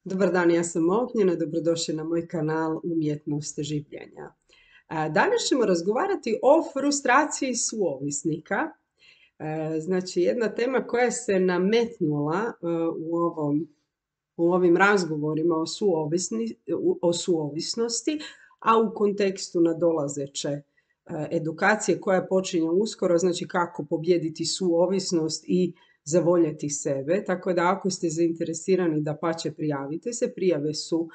Dobar dan, ja sam Ognjena, dobrodošli na moj kanal Umjetnost življenja. Danas ćemo razgovarati o frustraciji suovisnika. Znači, jedna tema koja se nametnula u ovim razgovorima o suovisnosti, a u kontekstu nadolazeće edukacije koja počinje uskoro, znači kako pobijediti suovisnost i zavoljeti sebe. Tako da ako ste zainteresirani, dapače prijavite se. Prijave su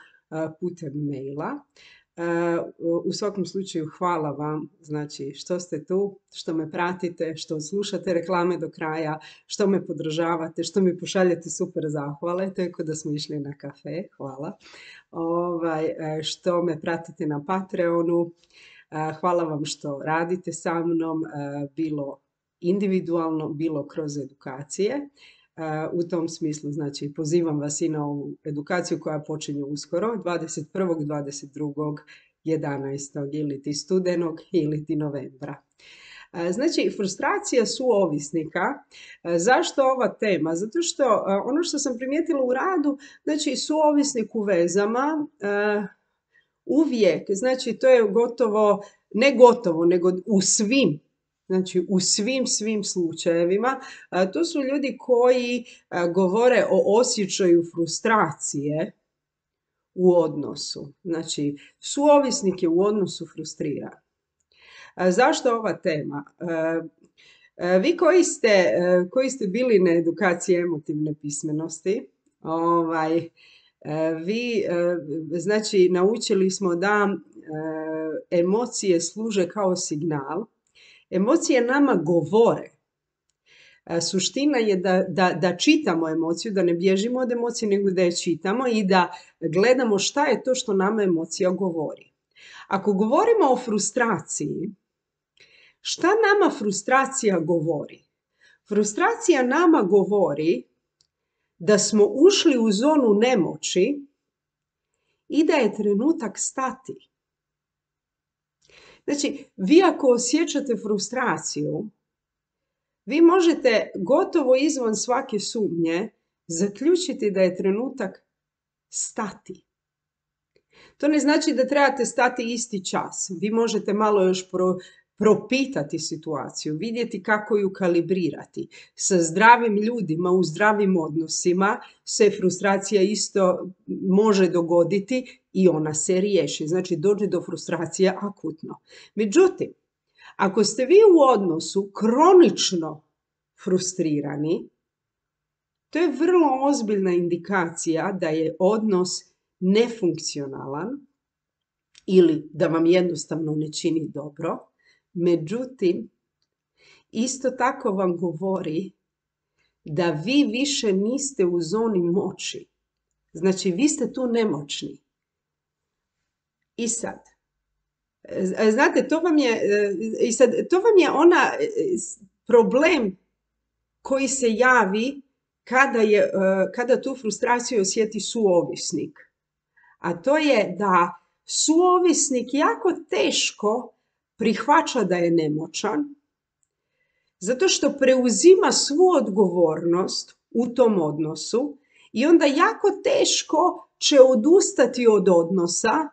putem maila. U svakom slučaju hvala vam, znači što ste tu, što me pratite, što slušate reklame do kraja, što me podržavate, što mi pošaljete super zahvale, to je kao da smo išli na kafe, hvala. Što me pratite na Patreonu, hvala vam što radite sa mnom, bilo individualno, bilo kroz edukacije. U tom smislu, znači, pozivam vas i na ovu edukaciju koja počinje uskoro, 21., 22., 11. ili ti studenog ili ti novembra. Znači, frustracija suovisnika. Zašto ova tema? Zato što ono što sam primijetila u radu, znači suovisnik u vezama uvijek, znači to je gotovo, ne gotovo, nego u svim, znači u svim slučajevima, to su ljudi koji govore o osjećaju frustracije u odnosu. Znači, suovisnik je u odnosu frustriran. Zašto ova tema? Vi koji ste bili na edukaciji emotivne pismenosti, znači naučili smo da emocije služe kao signal. Emocije nama govore. Suština je da čitamo emociju, da ne bježimo od emocije, nego da je čitamo i da gledamo šta je to što nama emocija govori. Ako govorimo o frustraciji, šta nama frustracija govori? Frustracija nama govori da smo ušli u zonu nemoći i da je trenutak stati. Znači, vi ako osjećate frustraciju, vi možete gotovo izvan svake sumnje zaključiti da je trenutak stati. To ne znači da trebate stati isti čas. Vi možete malo još propitati situaciju, vidjeti kako ju kalibrirati. Sa zdravim ljudima, u zdravim odnosima se frustracija isto može dogoditi i ona se riješi. Znači, dođe do frustracije akutno. Međutim, ako ste vi u odnosu kronično frustrirani, to je vrlo ozbiljna indikacija da je odnos nefunkcionalan ili da vam jednostavno ne čini dobro. Međutim, isto tako vam govori da vi više niste u zoni moći. Znači, vi ste tu nemoćni. I sad, znate, to vam je ona problem koji se javi kada tu frustraciju osjeti suovisnik. A to je da suovisnik jako teško prihvaća da je nemoćan, zato što preuzima svu odgovornost u tom odnosu i onda jako teško će odustati od odnosa,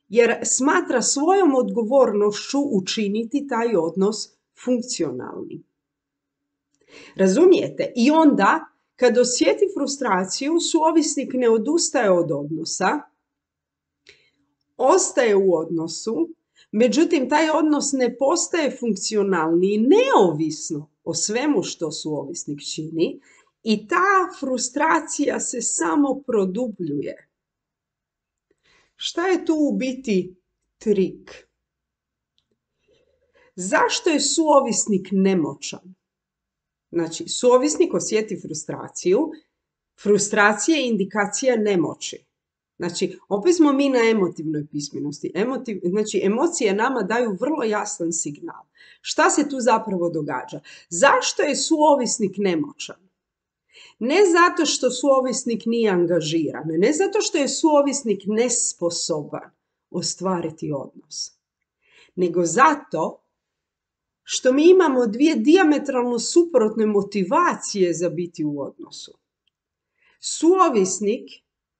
jer smatra svojom odgovornošću učiniti taj odnos funkcionalnim. Razumijete? I onda, kad osjeti frustraciju, suovisnik ne odustaje od odnosa, ostaje u odnosu, međutim, taj odnos ne postaje funkcionalni i neovisno o svemu što suovisnik čini i ta frustracija se samo produbljuje. Šta je tu u biti trik? Zašto je suovisnik nemoćan? Znači, suovisnik osjeti frustraciju. Frustracija je indikacija nemoći. Znači, opet smo mi na emotivnoj pismenosti. Znači, emocije nama daju vrlo jasan signal. Šta se tu zapravo događa? Zašto je suovisnik nemoćan? Ne zato što suovisnik nije angažiran, ne zato što je suovisnik nesposoban ostvariti odnos, nego zato što mi imamo dvije dijametralno suprotne motivacije za biti u odnosu. Suovisnik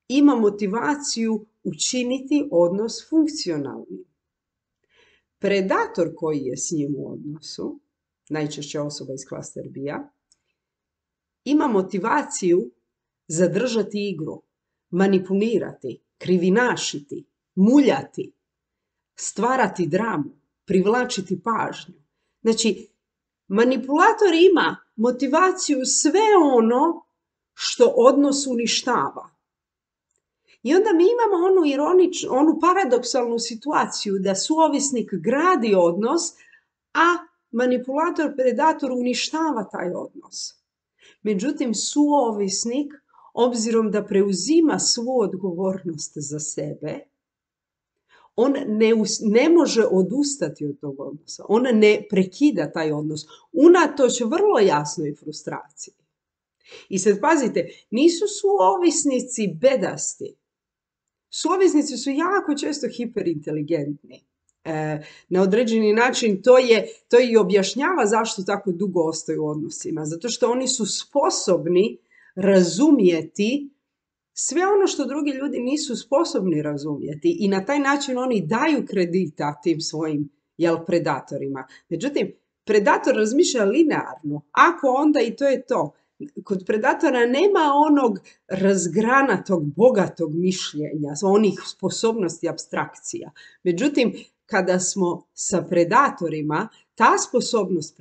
ima motivaciju učiniti odnos funkcionalnim. Predator koji je s njim u odnosu, najčešće osoba iz klaster B-a, ima motivaciju zadržati igru, manipulirati, krivinašiti, muljati, stvarati dramu, privlačiti pažnju. Znači, manipulator ima motivaciju sve ono što odnos uništava. I onda mi imamo onu paradoksalnu situaciju da suovisnik gradi odnos, a manipulator, predator uništava taj odnos. Međutim, suovisnik, obzirom da preuzima svu odgovornost za sebe, on ne može odustati od tog odnosa. On ne prekida taj odnos. Unatoč vrlo jasnoj frustraciji. I sad pazite, nisu suovisnici bedasti. Suovisnici su jako često hiperinteligentni. Na određeni način to i objašnjava zašto tako dugo ostaju u odnosima. Zato što oni su sposobni razumjeti sve ono što drugi ljudi nisu sposobni razumjeti i na taj način oni daju kredita tim svojim predatorima. Međutim, predator razmišlja linearno. Ako onda i to je to. Kod predatora nema onog razgranatog, bogatog mišljenja, onih sposobnosti apstrakcija. Međutim, kada smo sa predatorima, ta sposobnost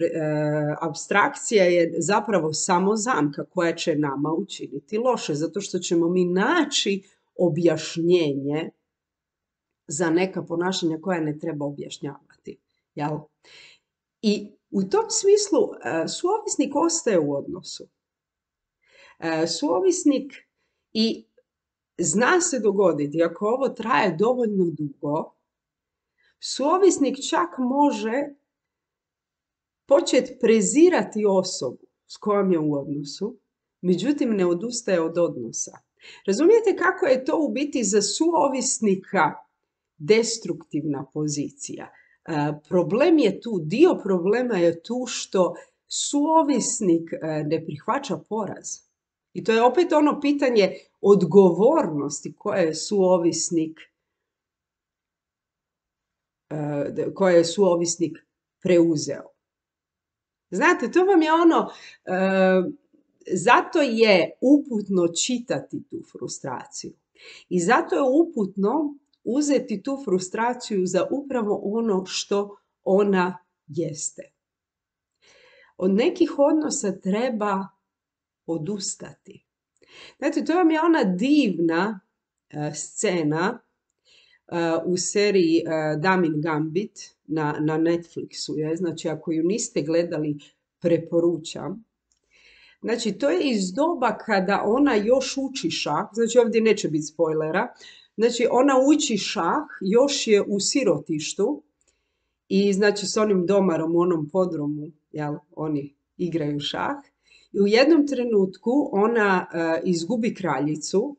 apstrakcija je zapravo samo zamka koja će nama učiniti loše, zato što ćemo mi naći objašnjenje za neka ponašanja koja ne treba objašnjavati. Jel? I u tom smislu suovisnik ostaje u odnosu. Suovisnik i zna se dogoditi, ako ovo traje dovoljno dugo, suovisnik čak može početi prezirati osobu s kojom je u odnosu, međutim ne odustaje od odnosa. Razumijete kako je to u biti za suovisnika destruktivna pozicija? Problem je tu, dio problema je tu što suovisnik ne prihvaća poraz. I to je opet ono pitanje odgovornosti koje je suovisnik preuzeo. Znate, to vam je zato je uputno čitati tu frustraciju. I zato je uputno uzeti tu frustraciju za upravo ono što ona jeste. Od nekih odnosa treba odustati. Znate, to vam je ona divna scena u seriji Damin Gambit na Netflixu. Je. Znači, ako ju niste gledali, preporučam. Znači, to je iz doba kada ona još uči šah. Znači, ovdje neće biti spoilera. Znači, ona uči šah, još je u sirotištu i znači s onim domarom u onom podrumu, jel, oni igraju šah. I u jednom trenutku ona izgubi kraljicu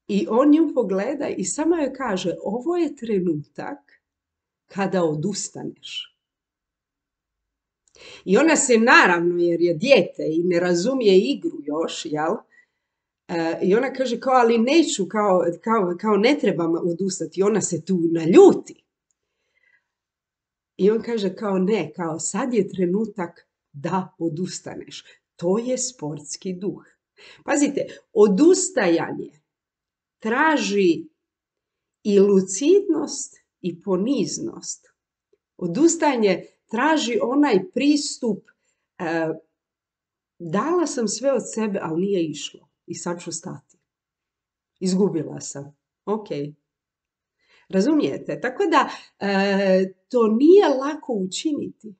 i on nju pogleda i samo joj kaže, ovo je trenutak kada odustaneš. I ona se naravno, jer je dijete i ne razumije igru još, jel? I ona kaže kao, ali neću, kao ne trebam odustati. I ona se tu naljuti. I on kaže kao ne, kao sad je trenutak da odustaneš. To je sportski duh. Pazite, odustajanje traži i lucidnost i poniznost. Odustajanje traži onaj pristup, dala sam sve od sebe, ali nije išlo. I sad ću stati. Izgubila sam. Ok. Razumijete? Tako da to nije lako učiniti.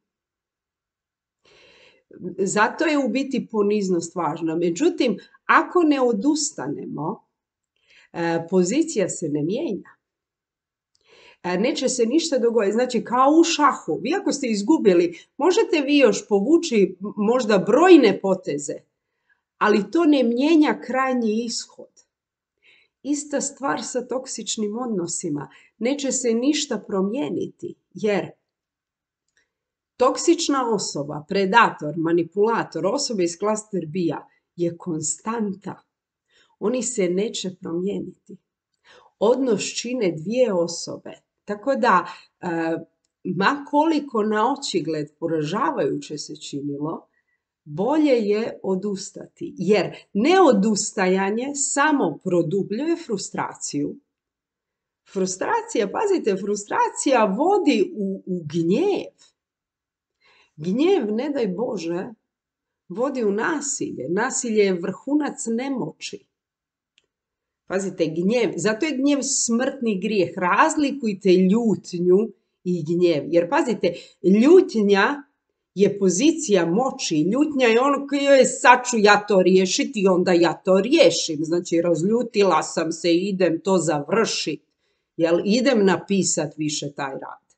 Zato je u biti poniznost važna. Međutim, ako ne odustanemo, pozicija se ne mijenja. Neće se ništa dogoditi. Znači, kao u šahu. Vi ako ste izgubili, možete vi još povući možda brojne poteze, ali to ne mijenja krajnji ishod. Ista stvar sa toksičnim odnosima. Neće se ništa promijeniti, jer toksična osoba, predator, manipulator, osoba iz klaster B-a je konstanta. oni se neće promijeniti. Odnos čine dvije osobe. Tako da, ma koliko na očigled poražavajuće se činilo, bolje je odustati. Jer neodustajanje samo produbljuje frustraciju. Frustracija, pazite, frustracija vodi u gnjev. Gnjev, ne daj Bože, vodi u nasilje. Nasilje je vrhunac nemoći. Pazite, gnjev, zato je gnjev smrtni grijeh. Razlikujte ljutnju i gnjev. Jer pazite, ljutnja je pozicija moći. Ljutnja je ono koje je sad ću ja to riješiti i onda ja to riješim. Znači, razljutila sam se i idem to završiti. Jel, idem napisati više taj rad.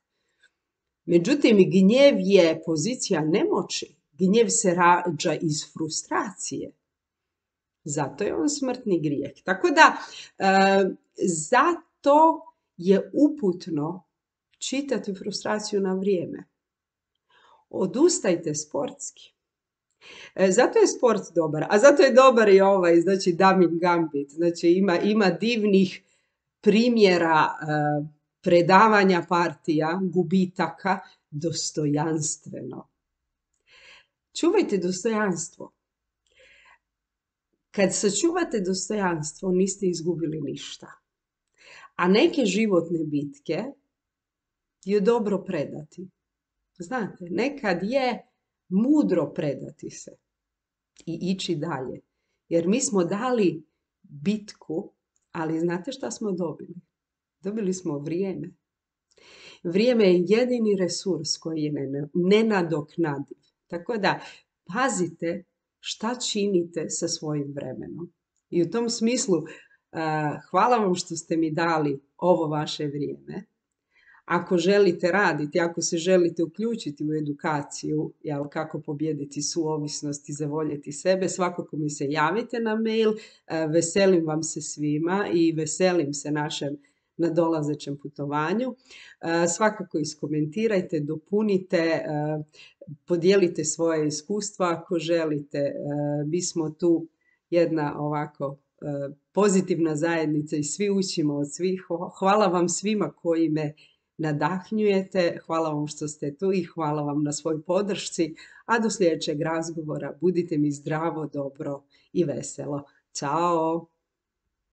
Međutim, gnjev je pozicija nemoći. Gnjev se rađa iz frustracije. Zato je on smrtni grijeh. Tako da, zato je uputno čitati frustraciju na vrijeme. Odustajte sportski. Zato je sport dobar. A zato je dobar i ovaj, znači Daming Gambit. Znači ima divnih primjera predavanja partija, gubitaka, dostojanstveno. Čuvajte dostojanstvo. Kad sačuvate dostojanstvo, niste izgubili ništa. A neke životne bitke je dobro predati. Znate, nekad je mudro predati se i ići dalje. Jer mi smo dali bitku, ali znate šta smo dobili? Dobili smo vrijeme. Vrijeme je jedini resurs koji je nenadoknadiv. Tako da, pazite šta činite sa svojim vremenom. I u tom smislu, hvala vam što ste mi dali ovo vaše vrijeme. Ako želite raditi, ako se želite uključiti u edukaciju, kako pobijediti suovisnost i zavoljeti sebe, svakako mi se javite na mail. Veselim vam se svima i veselim se našem nadolazećem putovanju. Svakako iskomentirajte, dopunite, podijelite svoje iskustva ako želite. Mi smo tu jedna ovako pozitivna zajednica i svi učimo od svih. Hvala vam svima koji me nadahnjujete, hvala vam što ste tu i hvala vam na svoj podršci, a do sljedećeg razgovora budite mi zdravo, dobro i veselo. Ćao!